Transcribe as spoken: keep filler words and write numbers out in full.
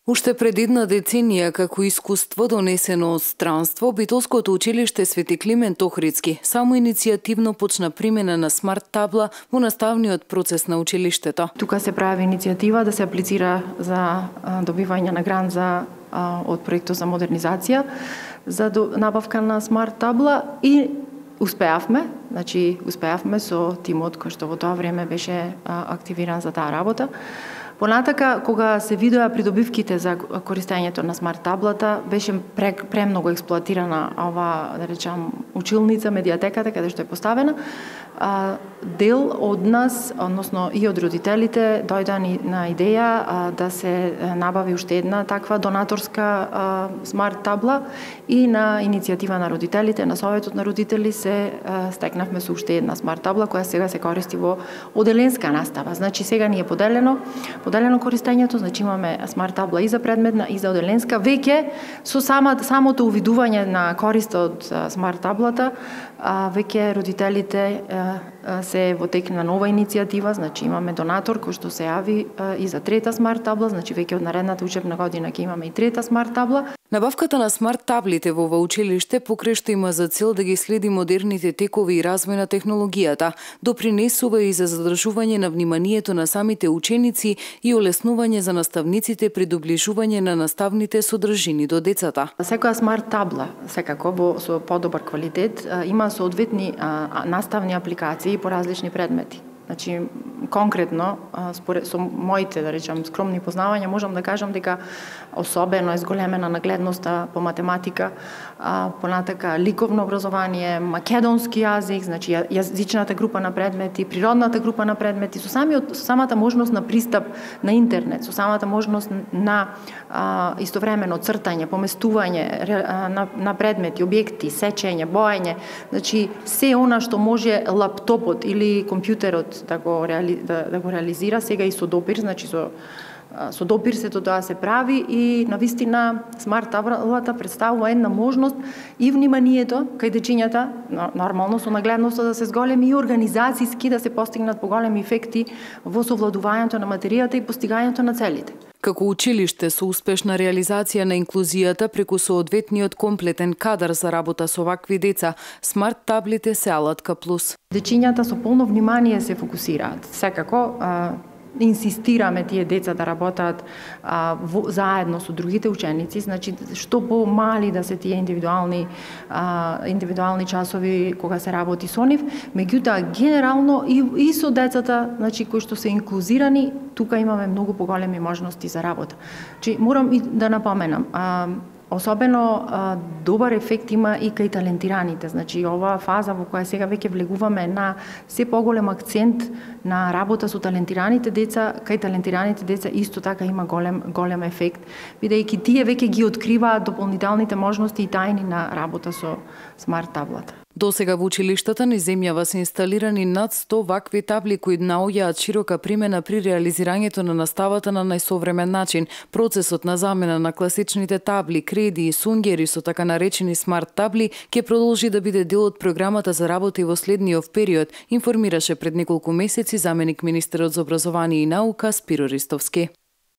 Уште пред една деценија, како искуство донесено од странство, Битолското училиште Свети Климент Охридски само иницијативно почна примена на смарт табла во наставниот процес на училиштето. Тука се прави иницијатива да се аплицира за добивање на грант за од проектот за модернизација за набавка на смарт табла и успеавме, значи успеавме со тимот кој што во тоа време беше активиран за таа работа. Понатака, кога се видоа придобивките за користењето на смарт таблата, беше премногу експлоатирана ова, да речам, училница, медиатеката, каде што е поставена. А, дел од нас, односно и од родителите, дојда на идеја а, да се набави уште една таква донаторска а, смарт табла и на иницијатива на родителите, на Советот на родители се а, стекнавме со уште една смарт табла која сега се користи во оделенска настава. Значи сега ни е поделено Поделено користењето, значи имаме смарт табла и за предметна и за оделенска. Веќе со сама, самото увидување на користа од смарт таблата, а, веќе родителите а, а, се во тек на нова иницијатива, значи имаме донатор кој што се јави а, и за трета смарт табла, значи веќе од наредната учебна година ќе имаме и трета смарт табла. Набавката на смарт таблите во ова училиште покрај што има за цел да ги следи модерните текови и развој на технологијата, допринесува и за задржување на вниманието на самите ученици и олеснување за наставниците при доближување на наставните содржини до децата. Секоја смарт табла, секако во со подобар квалитет, има соодветни наставни апликации по различни предмети. Значи, конкретно, според, со моите, да речам, скромни познавања, можам да кажам дека особено е зголемена нагледноста по математика, а, понатака ликовно образование, македонски јазик, значи јазичната група на предмети, природната група на предмети, со, самиот, со самата можност на пристап на интернет, со самата можност на а, истовремено цртање, поместување на, на предмети, објекти, сечење, боење, значи се она што може лаптопот или компјутерот да го, реали, да, да го реализира сега и со допир, значи со со допир сето тоа се прави и навистина смарт таблата представува една можност и вниманието кај дечињата, нормално со нагледноста да се зголеми и организацијски да се постигнат поголеми ефекти во совладувањето на материјата и постигањето на целите. Како училиште со успешна реализација на инклузијата преку соодветниот комплетен кадар за работа со вакви деца, смарт таблите се алатка плюс. Дечињата со полно внимание се фокусираат. Секако а, инсистираме тие деца да работат а, во, заедно со другите ученици, значи што помали да се тие индивидуални а, индивидуални часови кога се работи со нив, меѓутоа генерално и, и со децата, значи кои што се инклузирани, тука имаме многу поголеми можности за работа. Значи морам и да напоменам, а, особено а, добар ефект има и кај талентираните. Значи, оваа фаза во која сега веќе влегуваме на се поголем акцент на работа со талентираните деца, кај талентираните деца исто така има голем, голем ефект, бидејќи тие веќе ги откриваат дополнителните можности и тајни на работа со смарт таблата. До сега во училиштата низ земјава се инсталирани над сто вакви табли кои наоѓаат широка примена при реализирањето на наставата на најсовремен начин. Процесот на замена на класичните табли, креди и сунгери со така наречени смарт табли ќе продолжи да биде дел од програмата за работа и во следниот период, информираше пред неколку месеци заменик министерот за образование и наука Спиро Ристовски.